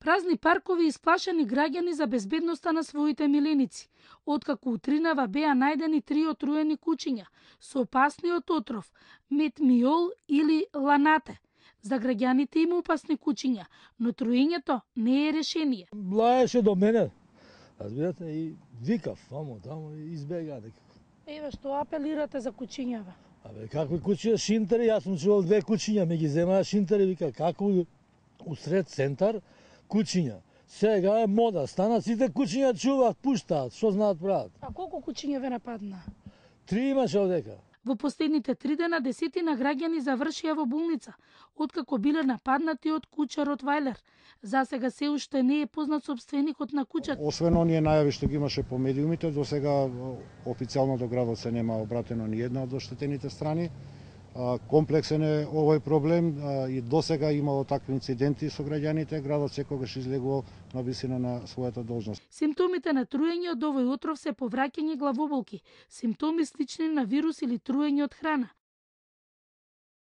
Празни паркови и сплашени граѓани за безбедноста на своите миленици, откако утринава беа најдени 3 отруени кучиња со опасниот отров метмиол или ланате. За граѓаните има опасни кучиња, но труењето не е решение. Блаеше до мене, разбирате, и викав, тамо и избега некако. Еве што апелирате за кучињава? Абе, какви кучиња, шинтери, јас сум чувал 2 кучиња, ми ги земаа шинтери, вика, како усред центар, кучиња. Сега е мода, стана сите кучиња чуваат, пуштаат, што знаат прават. А колку кучиња ве нападна? 3 имаше одека. Во последните 3 дена десетина граѓани завршија во болница, откако биле нападнати од куча Ротвајлер. За сега се уште не е познат сопственикот на кучата. Освен оние најави што ги имаше по медиумите, до сега официјално до градот се нема обратено ни една од оштетените страни. Комплексен е овој проблем и досега имало такви инциденти со граѓаните, градот секогаш излегувал на висина на својата должност. Симптомите на труење од овој отров се повраќање главоболки, симптоми слични на вирус или труење од храна.